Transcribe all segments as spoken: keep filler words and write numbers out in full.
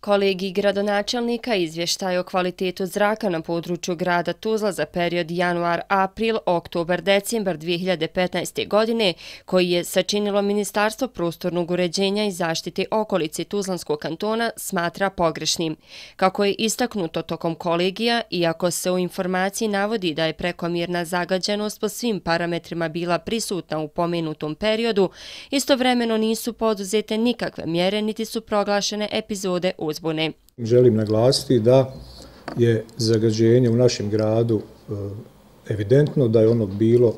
Kolegij gradonačelnika izvještaj o kvalitetu zraka na području grada Tuzla za period januar-april, oktobar-decembar dvije hiljade petnaeste. godine, koji je sačinilo Ministarstvo prostornog uređenja i zaštite okolice Tuzlanskog kantona, smatra pogrešnim. Kako je istaknuto tokom kolegija, iako se u informaciji navodi da je prekomjerna zagađenost po svim parametrima bila prisutna u pomenutom periodu, istovremeno nisu poduzete nikakve mjere niti su proglašene epizode uzbune. Želim naglasiti da je zagađenje u našem gradu evidentno, da je ono bilo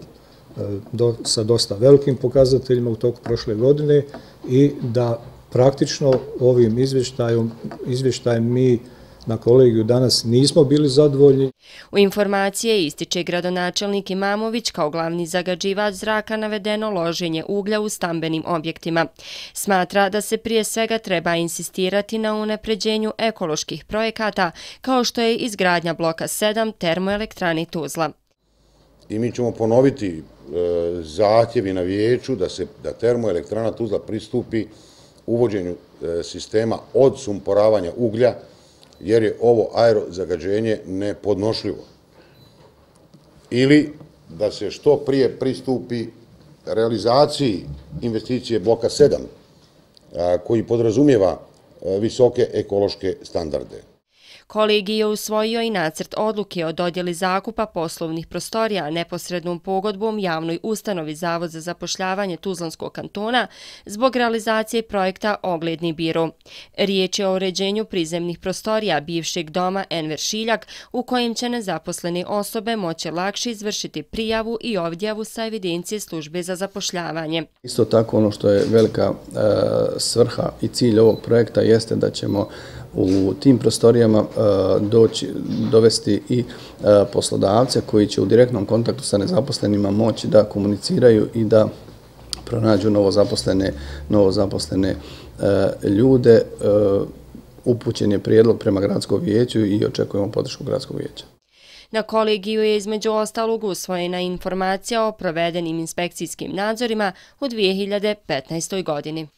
do, sa dosta velikim pokazateljima u toku prošle godine i da praktično ovim izvještajem, izvještajem mi na kolegiju danas nismo bili zadovoljni. U informacije ističe gradonačelnik Imamović kao glavni zagađivač zraka navedeno loženje uglja u stambenim objektima. Smatra da se prije svega treba insistirati na unapređenju ekoloških projekata kao što je izgradnja bloka sedam termoelektrani Tuzla. I mi ćemo ponoviti e, zahtjevi na vijeću da se da termoelektrana Tuzla pristupi uvođenju e, sistema odsumporavanja uglja, jer je ovo aerozagađenje nepodnošljivo. Ili da se što prije pristupi realizaciji investicije bloka sedam, koji podrazumijeva visoke ekološke standarde. Kolegij je usvojio i nacrt odluke o dodjeli zakupa poslovnih prostorija neposrednom pogodbom javnoj ustanovi Zavod za zapošljavanje Tuzlanskog kantona zbog realizacije projekta Ogledni biro. Riječ je o uređenju prizemnih prostorija bivšeg doma Enver Šiljak, u kojim će nezaposlene osobe moći lakše izvršiti prijavu i ovdjavu sa evidencije službe za zapošljavanje. Isto tako ono što je velika e, svrha i cilj ovog projekta jeste da ćemo u tim prostorijama doći, dovesti i poslodavce koji će u direktnom kontaktu sa nezaposlenima moći da komuniciraju i da pronađu novozaposlene, novozaposlene ljude. Upućen je prijedlog prema gradskom vijeću i očekujemo podršku gradskog vijeća. Na kolegiju je između ostalog usvojena informacija o provedenim inspekcijskim nadzorima u dvije hiljade petnaestoj. godini.